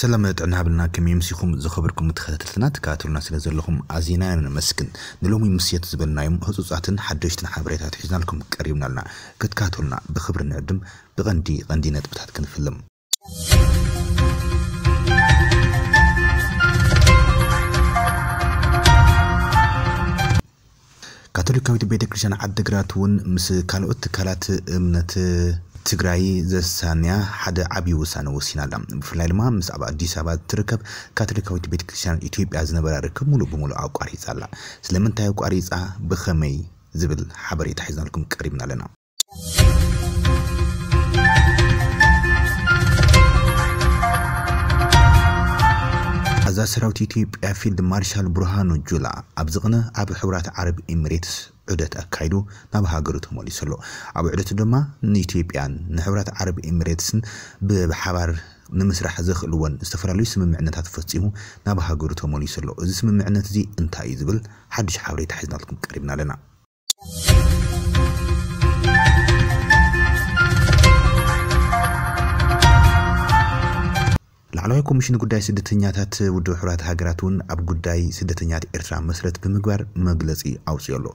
ሰላም ጥዕና ሃብልና፣ ከመይ ኣምሲኹም ዝኸበርኩም ተኸታተልትና? ትከታተሉና ስለ ዘለኹም ኣዚና ነመስግን። ንሎሚ ምሴት ዝበልናዮም ህጹጻትን ሓደሽትን ሓበሬታት ሒዝናልኩም ቀሪብና ኣለና። ክትከታተሉና ብኽብሪ ንዕድም። ብቐንዲ ቀንዲ ነጥብታት ክንፍልም። ካቶሊካዊት ቤተ ክርስቲያን ዓዲግራት እውን ምስ ካልኦት ትካላት እምነት ትግራይ ዘሳንያ ሓደ ዓብዪ ውሳነ ወሲና ኣላ። ብፍላይ ድማ ምስ ኣብ ኣዲስ ኣበባ እትርከብ ካቶሊካዊት ቤተ ክርስቲያን ኢትዮጵያ ዝነበራ ርክብ ሙሉእ ብሙሉእ ኣቋሪጻ ኣላ። ስለምንታይ ኣቋሪጻ፣ ብኸመይ ዝብል ሓበሬታ ሒዝናልኩም ቀሪብና ኣለና። ኣዛዚ ሰራዊት ኢትዮጵያ ፊልድ ማርሻል ብርሃኑ ጁላ ኣብዚ ቅነ ኣብ ሕቡራት ዓረብ ኤሚሬትስ ዑደት ኣካይዱ ናብ ሃገሩ ተመሊሱ ኣሎ። ኣብ ዑደቱ ድማ ንኢትዮጵያን ንሕቡራት ዓረብ ኤሚሬትስን ብ-፣ ብሓባር ንምስራሕ ዘኽእልዎን ዝተፈላለዩ ስምምዕነታት ፈጺሙ ናብ ሃገሩ ተመሊሱ ኣሎ። እዚ ስምምዕነት እዚ እንታይ እዩ ዝብል ሓድሽ ሓበሬታ ሒዝናልኩም ቀሪብና ኣለና። ላዕለዋይ ኮሚሽን ጉዳይ ስደተኛታት ውድብ ሕቡራት ሃገራት እውን ኣብ ጉዳይ ስደተኛታት ኤርትራ መስረት ብምግባር መግለጺ ኣውጺኡ ኣሎ።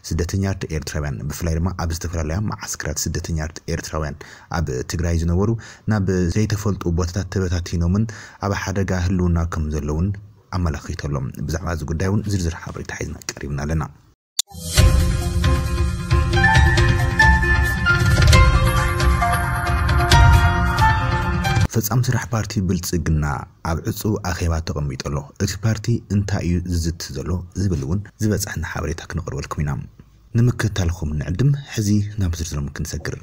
ስደተኛታት ኤርትራውያን ብፍላይ ድማ ኣብ ዝተፈላለያ መዓስከራት ስደተኛታት ኤርትራውያን ኣብ ትግራይ ዝነበሩ ናብ ዘይተፈልጡ ቦታታት ተበታቲኖምን ኣብ ሓደጋ ህልውና ከም ዘለውን ኣመላኺቱ ኣሎ። ብዛዕባ እዚ ጉዳይ እውን ዝርዝር ሓበሬታ ሒዝና ቀሪብና ኣለና። ፈጻሚ ስራሕ ፓርቲ ብልጽግና ኣብ ዕጹው ኣኼባ ተቐሚጡ ኣሎ። እቲ ፓርቲ እንታይ እዩ ዝዝቲ ዘሎ ዝብል እውን ዝበጻሕና ሓበሬታ ክነቕርበልኩም ኢና። ንምክትታልኩም ንዕድም። ሕዚ ናብ ዝርዝሮም ክንሰግር።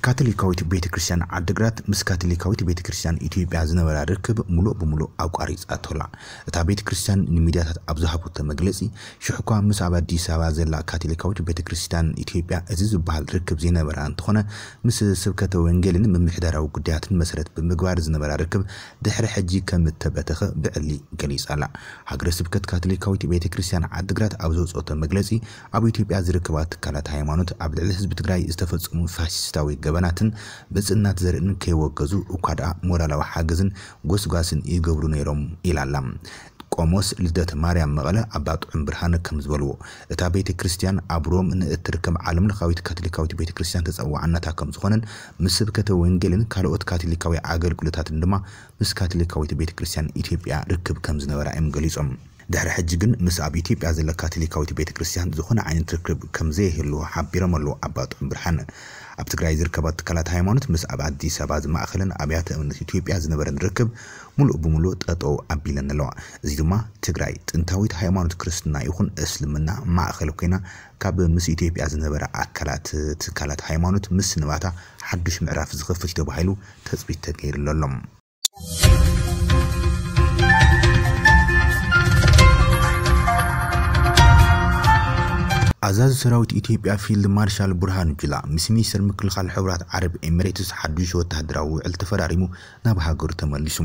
ካቶሊካዊት ቤተ ክርስቲያን ዓዲግራት ምስ ካቶሊካዊት ቤተ ክርስቲያን ኢትዮጵያ ዝነበራ ርክብ ሙሉእ ብሙሉእ ኣቋሪጻቶ ኣላ። እታ ቤተ ክርስቲያን ንሚድያታት ኣብ ዝሃበቶ መግለጺ፣ ሽሕኳ ምስ ኣብ ኣዲስ ኣበባ ዘላ ካቶሊካዊት ቤተ ክርስቲያን ኢትዮጵያ እዚ ዝበሃል ርክብ ዘይነበራ እንተኾነ፣ ምስ ስብከተ ወንጌልን ምምሕዳራዊ ጉዳያትን መሰረት ብምግባር ዝነበራ ርክብ ድሕሪ ሕጂ ከም እተበተኸ ብዕሊ ገሊጻ ኣላ። ሃገረ ስብከት ካቶሊካዊት ቤተ ክርስቲያን ዓዲግራት ኣብ ዘውጽኦቶ መግለጺ፣ ኣብ ኢትዮጵያ ዝርከባ ትካላት ሃይማኖት ኣብ ልዕሊ ህዝቢ ትግራይ ዝተፈጸሙ ፋሽስታዊ ገበናትን ብጽእናት ዘርእን ከይወገዙ እኳ ደኣ ሞራላዊ ሓገዝን ጎስጓስን ይገብሩ ነይሮም ኢላ ኣላ። ቆሞስ ልደተ ማርያም መቐለ ኣባ ጥዑም ብርሃነ ከም ዝበልዎ፣ እታ ቤተ ክርስቲያን ኣብ ሮም ንእትርከብ ዓለም ለኻዊት ካቶሊካዊት ቤተ ክርስቲያን ተጸዋዕነታ ከም ዝኾነን ምስ ስብከተ ወንጌልን ካልኦት ካቶሊካዊ ኣገልግሎታትን ድማ ምስ ካቶሊካዊት ቤተ ክርስቲያን ኢትዮጵያ ርክብ ከም ዝነበራ እዮም ገሊጾም። ድሕሪ ሕጂ ግን ምስ ኣብ ኢትዮጵያ ዘለ ካቶሊካዊት ቤተ ክርስቲያን ዝኾነ ዓይነት ርክብ ከም ዘይህልዎ ሓቢሮም ኣለዉ ኣባ ጥዑም ብርሃነ። ኣብ ትግራይ ዝርከባ ትካላት ሃይማኖት ምስ ኣብ ኣዲስ ኣበባ ዝማእኸለን ኣብያተ እምነት ኢትዮጵያ ዝነበረን ርክብ ሙሉእ ብሙሉእ ጠጠው ኣቢለን ኣለዋ። እዚ ድማ ትግራይ ጥንታዊት ሃይማኖት ክርስትና ይኹን እስልምና ማእኸል ኮይና ካብ ምስ ኢትዮጵያ ዝነበረ ኣካላት ትካላት ሃይማኖት ምስንባታ ሓዱሽ ምዕራፍ ዝኸፍት እዩ ተባሂሉ ተፅቢት ተገይሩሉ ኣሎ። ኣዛዚ ሰራዊት ኢትዮጵያ ፊልድ ማርሻል ብርሃኑ ጁላ ምስ ሚኒስትር ምክልኻል ሕቡራት ዓረብ ኤሚሬትስ ሓዱሽ ወታደራዊ ውዕል ተፈራሪሙ ናብ ሃገሩ ተመሊሱ።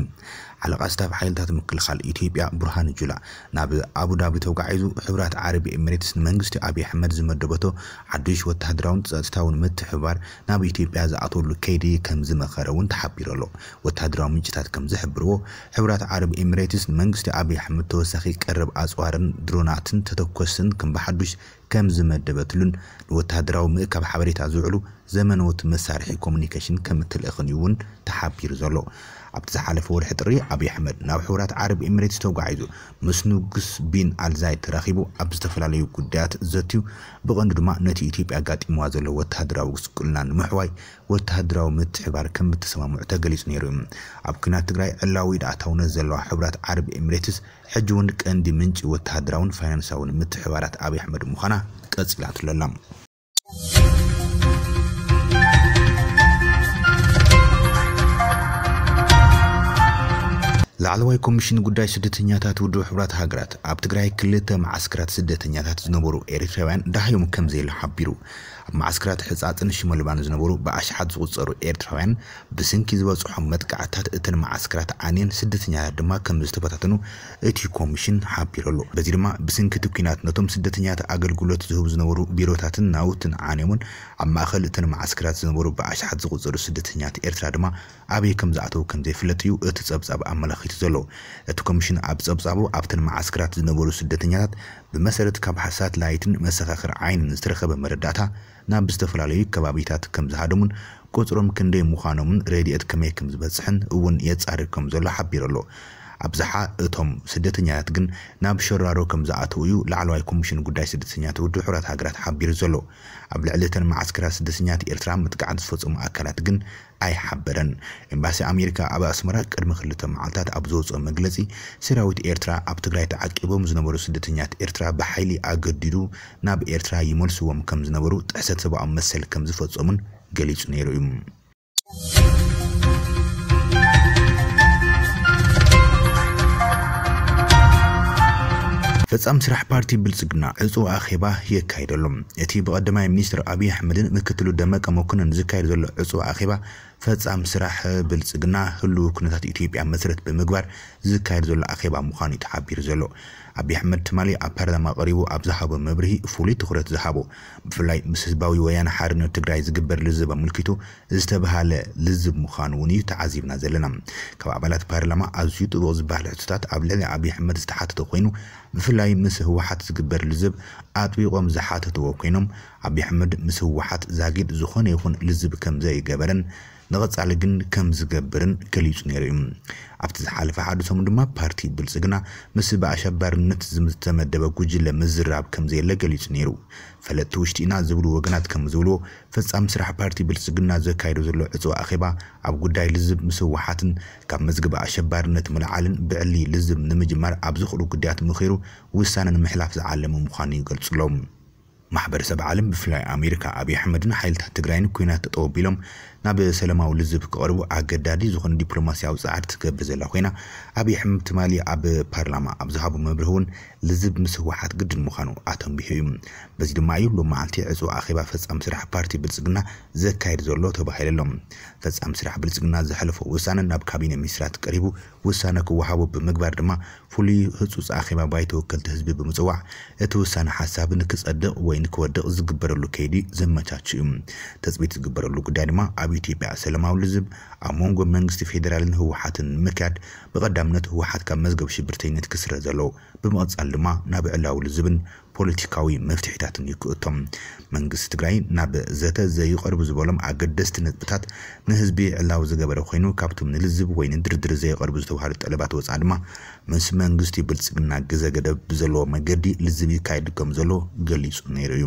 ሓለቓ ስታፍ ሓይልታት ምክልኻል ኢትዮጵያ ብርሃኑ ጁላ ናብ ኣቡዳቢ ተጓዒዙ፣ ሕቡራት ዓረብ ኤሚሬትስ ንመንግስቲ ኣብይ ኣሕመድ ዝመደበቶ ሓዱሽ ወታደራውን ጸጥታውን ምትሕብባር ናብ ኢትዮጵያ ዝኣተወሉ ከይዲ ከም ዝመኸረ እውን ተሓቢሩ ኣሎ። ወታደራዊ ምንጭታት ከም ዝሕብርዎ፣ ሕቡራት ዓረብ ኤሚሬትስ ንመንግስቲ ኣብይ ኣሕመድ ተወሳኺ ቀረብ ኣጽዋርን ድሮናትን ተተኮስን ከም ብሓዱሽ ከም ዝመደበትሉን ንወታደራዊ ምእካብ ሓበሬታ ዝውዕሉ ዘመነዎት መሳርሒ ኮሙኒኬሽን ከም እትልእኽን እዩ እውን ተሓቢሩ ዘሎ። ኣብቲ ዝሓለፈ ወርሒ ጥሪ ኣብይ ኣሕመድ ናብ ሕቡራት ዓረብ ኤሚሬትስ ተጓዒዙ ምስ ንጉስ ቢን ኣልዛይድ ተራኺቡ ኣብ ዝተፈላለዩ ጉዳያት ዘትዩ፣ ብቐንዱ ድማ ነቲ ኢትዮጵያ ኣጋጢምዋ ዘሎ ወታደራዊ ጉስቁልና ንምሕዋይ ወታደራዊ ምትሕባር ከም እተሰማምዑ ተገሊጹ ነይሩ እዩ። ኣብ ኲናት ትግራይ ዕላዊ ኢድ ኣእታውነት ዘለዋ ሕቡራት ዓረብ ኤሚሬትስ ሕጂ እውን ቀንዲ ምንጪ ወታደራውን ፋይናንሳውን ምትሕባራት ኣብይ ኣሕመድ ምዃና ቀጺላትሉ ኣላ። ላዕለዋይ ኮሚሽን ጉዳይ ስደተኛታት ውድብ ሕቡራት ሃገራት ኣብ ትግራይ ክልተ መዓስከራት ስደተኛታት ዝነበሩ ኤርትራውያን ደሃዮም ከም ዘየለ ሓቢሩ። ኣብ መዓስከራት ሕጻጽን ሽመልባን ዝነበሩ ብኣሽሓት ዝቑጸሩ ኤርትራውያን ብስንኪ ዝበጽሖም መጥቃዕታት እተን መዓስከራት ዓንየን፣ ስደተኛታት ድማ ከም ዝተበታተኑ እቲ ኮሚሽን ሓቢሩ ኣሎ። በዚ ድማ ብስንኪ እቲ ኲናት ነቶም ስደተኛታት ኣገልግሎት ዝህቡ ዝነበሩ ቢሮታትን ናውትን ዓንዮምን፣ ኣብ ማእከል እተን መዓስከራት ዝነበሩ ብኣሽሓት ዝቑጸሩ ስደተኛታት ኤርትራ ድማ ኣበይ ከም ዝኣተዉ ከም ዘይፍለጥ እዩ እቲ ጸብጻብ ኣመላኺቱ ዘሎ። እቲ ኮሚሽን ኣብ ጸብጻቡ ኣብተን መዓስከራት ዝነበሩ ስደተኛታት ብመሰረት ካብ ሳትላይትን መሰኻኽር ዓይንን ዝተረኸበ መረዳእታ ናብ ዝተፈላለዩ ከባቢታት ከም ዝሃደሙን ቁጽሮም ክንደይ ምዃኖምን ረድኤት ከመይ ከም ዝበጽሕን እውን የጻርር ከም ዘሎ ሓቢሩ ኣሎ። ኣብዝሓ እቶም ስደተኛታት ግን ናብ ሸራሮ ከም ዝኣተዉ እዩ ላዕለዋይ ኮሚሽን ጉዳይ ስደተኛታት ውድብ ሕቡራት ሃገራት ሓቢሩ ዘሎ። ኣብ ልዕሊ እተን መዓስከራት ስደተኛታት ኤርትራ መጥቃዕቲ ዝፈጸሙ ኣካላት ግን ኣይሓበረን። ኤምባሲ ኣሜሪካ ኣብ ኣስመራ ቅድሚ ክልተ መዓልታት ኣብ ዘውፅኦ መግለፂ፣ ሰራዊት ኤርትራ ኣብ ትግራይ ተዓቂቦም ዝነበሩ ስደተኛታት ኤርትራ ብሓይሊ ኣገዲዱ ናብ ኤርትራ ይመልስዎም ከም ዝነበሩ ጥሕሰት ሰብኣዊ መሰል ከም ዝፈጸሙን ገሊጹ ነይሩ እዩ። ፈጻም ስራሕ ፓርቲ ብልጽግና ዕጹ ኣኼባ የካይደሎም። እቲ ብቐዳማይ ሚኒስትር ኣብይ ኣሕመድን ምክትሉ ደመቀ መኮንን ዝካየድ ዘሎ ዕጹ ኣኼባ ፈጻም ስራሕ ብልጽግና ህልው ኩነታት ኢትዮጵያ መሰረት ብምግባር ዝካየድ ዘሎ ኣኼባ ምዃኑ እዩ ተሓቢሩ ዘሎ። ኣብይ ኣሕመድ ትማሊ ኣብ ፓርላማ ቀሪቡ ኣብ ዝሃቦ መብርሂ ፍሉይ ትኹረት ዝሃቦ ብፍላይ ምስ ህዝባዊ ወያነ ሓርነት ትግራይ ዝግበር ልዝብ ኣመልኪቱ ዝተብሃለ ልዝብ ምዃኑ እውን እዩ ተዓዚብና ዘለና። ካብ ኣባላት ፓርላማ ኣዝዩ ጥቡቕ ዝበሃል ሕቶታት ኣብ ልዕሊ ኣብይ ኣሕመድ ዝተሓተተ ኮይኑ፣ ብፍላይ ምስ ህወሓት ዝግበር ልዝብ ኣጥቢቖም ዝሓተትዎ ኮይኖም፣ ኣብይ ኣሕመድ ምስ ህወሓት ዛጊድ ዝኾነ ይኹን ልዝብ ከም ዘይገበረን ንቐጻሊ ግን ከም ዝገብርን ገሊጹ ነይሩ እዩ። ኣብቲ ዝሓለፈ ሓደ ሰሙን ድማ ፓርቲ ብልጽግና ምስ ብኣሸባርነት ዝተመደበ ጉጅለ ምዝራብ ከም ዘየለ ገሊጹ ነይሩ። ፈለጥቲ ውሽጢ ኢና ዝብሉ ወገናት ከም ዝብልዎ፣ ፈጻሚ ስራሕ ፓርቲ ብልጽግና ዘካይዶ ዘሎ ዕጽዋ ኣኼባ ኣብ ጉዳይ ልዝብ ምስ ህወሓትን ካብ መዝገብ ኣሸባርነት ምልዓልን ብዕሊ ልዝብ ንምጅማር ኣብ ዝኽእሉ ጉዳያት ምኺሩ ውሳነ ንምሕላፍ ዝዓለመ ምዃኑ ይገልጹ ኣለዉ። ማሕበረሰብ ዓለም ብፍላይ ኣሜሪካ ኣብይ ኣሕመድን ሓይልታት ትግራይን ኲናት ጠጠው ኣቢሎም ናብ ሰላማዊ ልዝብ ክቐርቡ ኣገዳዲ ዝኾነ ዲፕሎማሲያዊ ጻዕሪ ትገብር ዘላ ኮይና ኣብይ ኣሕመድ ትማሊ ኣብ ፓርላማ ኣብ ዝሃቦ መብርሂ እውን ልዝብ ምስ ህወሓት ግድን ምዃኑ ኣተንቢሁ እዩ። በዚ ድማ እዩ ሎም መዓልቲ ዕጹ ኣኼባ ፈጻሚ ስራሕ ፓርቲ ብልጽግና ዘካየድ ዘሎ ተባሂሉ ኣሎ። ፈጻሚ ስራሕ ብልጽግና ዘሕለፎ ውሳነ ናብ ካቢነ ሚኒስትራት ቀሪቡ ውሳነ ክወሃቦ ብምግባር ድማ ፍሉይ ህጹጽ ኣኼባ ባይቶ ወከልቲ ህዝቢ ብምጽዋዕ እቲ ውሳነ ሓሳብ ንክጸድቕ ወይ ንክወድቕ ዝግበረሉ ከይዲ ዘመቻች እዩ። ተጽቢት ዝግበረሉ ጉዳይ ድማ ኣብ ኢትዮጵያ ሰላማዊ ልዝብ ኣብ መንጎ መንግስቲ ፌዴራልን ህወሓትን ንምክያድ ብቐዳምነት ህወሓት ካብ መዝገብ ሽብርተኝነት ክስረዝ ኣለዎ። ብምቕጻል ድማ ናብ ዕላዊ ልዝብን ፖለቲካዊ መፍትሒታትን ይክእቶም። መንግስቲ ትግራይ ናብ ዘተ ዘይቐርቡ ዝበሎም ኣገደስቲ ነጥብታት ንህዝቢ ዕላዊ ዝገበረ ኮይኑ ካብቶም ንልዝብ ወይ ንድርድር ዘይቐርቡ ዝተባሃሉ ጠለባት ወፃእ ድማ ምስ መንግስቲ ብልፅግና ግዘ ገደብ ብዘለዎ መገዲ ልዝብ ይካየድ ከም ዘሎ ገሊፁ ነይሩ እዩ።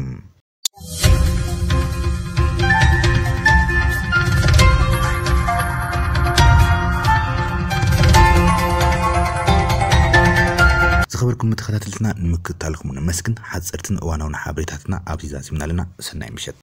ዝኸበርኩም ተኸታተልትና ንምክትታልኩም ነመስግን። ሓፀርትን እዋናውን ሓበሬታትና ኣብዚ ዛዚምና ኣለና። ሰናይ ምሸት።